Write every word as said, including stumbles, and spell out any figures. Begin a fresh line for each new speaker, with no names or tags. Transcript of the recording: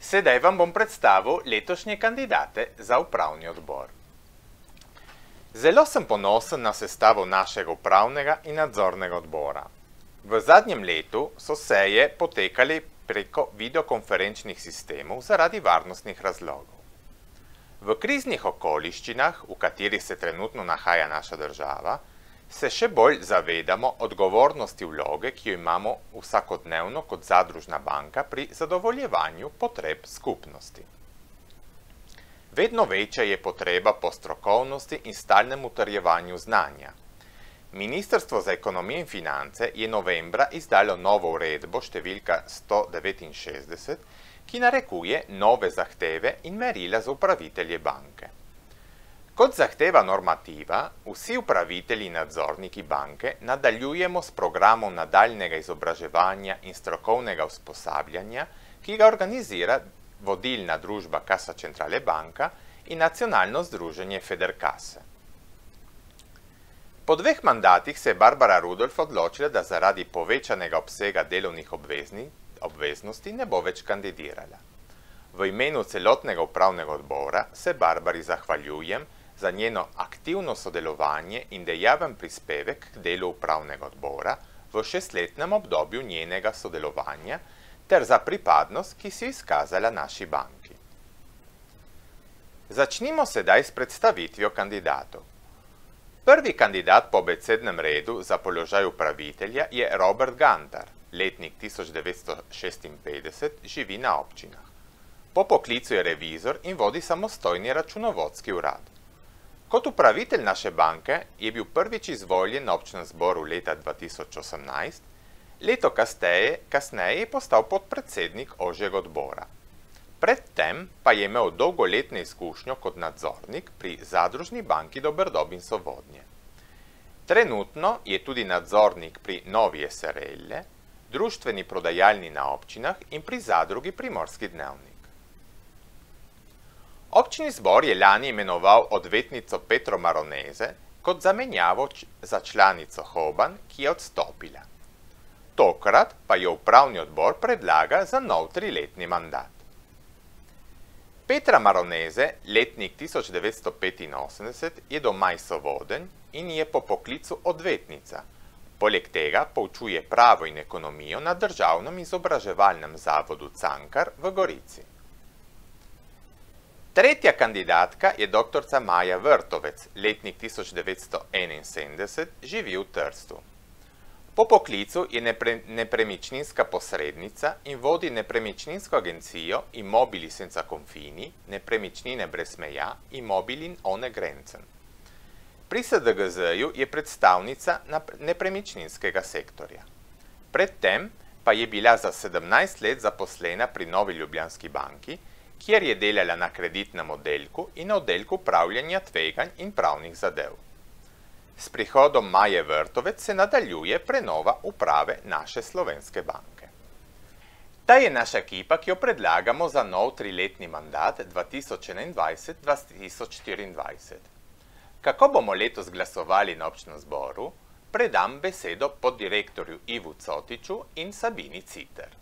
Sedaj vam bom predstavil letošnje kandidate za upravni odbor. Zelo sem ponosen na sestavo našega upravnega in nadzornega odbora. V zadnjem letu so seje potekali preko videokonferenčnih sistemov zaradi varnostnih razlogov. V kriznih okoliščinah, v katerih se trenutno nahaja naša država, se še bolj zavedamo odgovornosti vloge, ki jo imamo vsakodnevno kot zadružna banka pri zadovoljevanju potreb skupnosti. Vedno večja je potreba po strokovnosti in stalnem utrjevanju znanja. Ministrstvo za ekonomijo in finance je novembra izdalo novo uredbo številka sto devetinšestdeset, ki narekuje nove zahteve in merila za upravitelje banke. Kot zahteva normativa, vsi upravitelji in nadzorniki banke nadaljujemo s programom nadaljnjega izobraževanja in strokovnega usposabljanja, ki ga organizira vodilna družba Kassa Centrale Banka in nacionalno združenje Federcasse. Po dveh mandatih se je Barbara Rudolf odločila, da zaradi povečanega obsega delovnih obveznosti ne bo več kandidirala. V imenu celotnega upravnega odbora se Barbari zahvaljujem za njeno aktivno sodelovanje in dejaven prispevek k delu upravnega odbora v šestletnem obdobju njenega sodelovanja ter za pripadnost, ki si jo izkazala naši banki. Začnimo sedaj s predstavitvijo kandidatov. Prvi kandidat po abecednem redu za položaj upravitelja je Robert Gantar, letnik tisoč devetsto šestinpetdeset, živi na občinah. Po poklicu je revizor in vodi samostojni računovodski urad. Kot upravitelj naše banke je bil prvič izvoljen na občnem zboru leta dva tisoč osemnajst, leto kasneje, kasneje je postal podpredsednik ožjega odbora. Predtem pa je imel dolgoletno izkušnjo kot nadzornik pri zadružni banki Doberdob in Sovodnje. Trenutno je tudi nadzornik pri Novi S R L, društveni prodajalni na občinah in pri zadrugi Primorski dnevnik. Občni zbor je lani imenoval odvetnico Petro Maroneze kot zamenjavo za članico Hoban, ki je odstopila. Tokrat pa jo upravni odbor predlaga za nov triletni mandat. Petra Maroneze, letnik tisoč devetsto petinosemdeset, je doma iz Sovodenj in je po poklicu odvetnica. Poleg tega poučuje pravo in ekonomijo na državnem izobraževalnem zavodu Cankar v Gorici. Tretja kandidatka je doktorica Maja Vrtovec, letnik tisoč devetsto enainsedemdeset, živi v Trstu. Po poklicu je nepre, nepremičninska posrednica in vodi nepremičninsko agencijo Immobili senza confini, nepremičnine brez meja, Immobilin ohne Grenzen. Pri S D G Z-ju je predstavnica nepremičninskega sektorja. Predtem pa je bila za sedemnajst let zaposlena pri Novi Ljubljanski banki, kjer je delala na kreditnem oddelku in na oddelku upravljanja tveganj in pravnih zadev. S prihodom Maje Vrtovec se nadaljuje prenova uprave naše slovenske banke. Ta je naša ekipa, ki jo predlagamo za nov triletni mandat dva tisoč enaindvajset do dva tisoč štiriindvajset. Kako bomo letos glasovali na občnem zboru, predam besedo poddirektorju Ivu Cotiču in Sabini Citer.